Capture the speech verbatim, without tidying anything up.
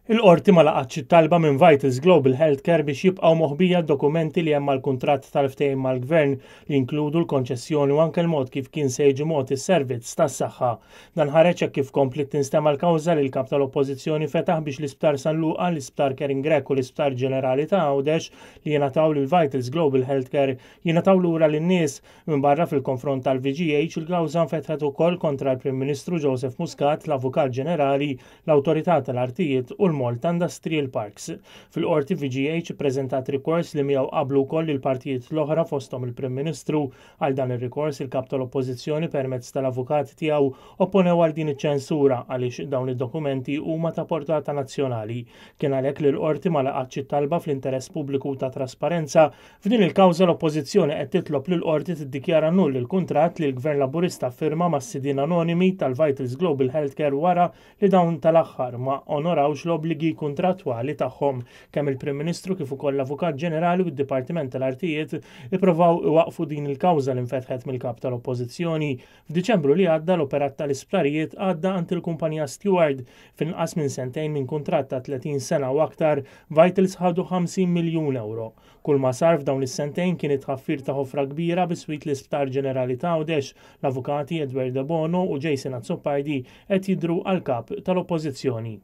Il-qorti ma laqatx it-talba minn Vitals Global Healthcare biex jibqgħu moħbija dokumenti li hemm mal-kuntratt tal-ftehim mal-gvern li jinkludu l-konċessjoni u anke l-mod kif kien se jiġi mogħti s-servizz tas-saħħa. Dan ħareġ hekk kif kompliet tinstema' l-kawża li l-kap tal-Oppożizzjoni fetaħ biex l-Isptar San Luqa, l-Isptar Karen Grech u l-Isptar Ġenerali ta' Għawdex li jingħataw lil Vitals Global Healthcare jingħataw lura lin-nies. Minn barra fil-konfront tal-V G H, il-kawża nfetħet ukoll kontra l-Prim Ministru Joseph Muscat, l-Avukat Ġenerali, l-Awtorità tal-Artijiet u l-Malta Industrial Parks. Fil-qorti V G H prezentat rikors li miegħu qablu wkoll il-partijiet l-oħra, fosthom il-Prim Ministru. Għal dan ir-rikors, il-kap tal-Oppożizzjoni permezz tal-avukat tiegħu opponew għal din iċ-ċensura għaliex dawn id-dokumenti huma ta' portata nazzjonali. Kien għalhekk li l-qorti ma laqatx it-talba fl-interess pubbliku ta' trasparenza. F'din il-kawża l-Oppożizzjoni qed titlob lil qorti tiddikjara null il-kuntratt li l-Gvern Laburista firma mas-sidien anonimi tal-Vitals Global Healthcare wara li dawn tal-aħħar ma onorawx l-obbligi kontrattwali tagħhom. Kemm il-Prim Ministru kif ukoll l-Avukat Ġenerali u d-Dipartiment tal-Artijiet ippruvaw iwaqfu din il-kawża li nfetħet mill-kap tal-Oppożizzjoni. F'Diċembru li għadda l-operat tal-isptarijiet għadda għand il-kumpanija Steward. F'inqas minn sentejn minn kuntratt ta' tletin sena u aktar, Vitals ħadu ħamsin miljun euro. Kull ma sar f'dawn is-sentejn kien it-tħaffir ta' ħofra kbira biswit l-Isptar Ġenerali ta' Għawdex. L-avukati Edward De Bono u Jason Azzopardi qed jidru għal kap tal-Oppożizzjoni.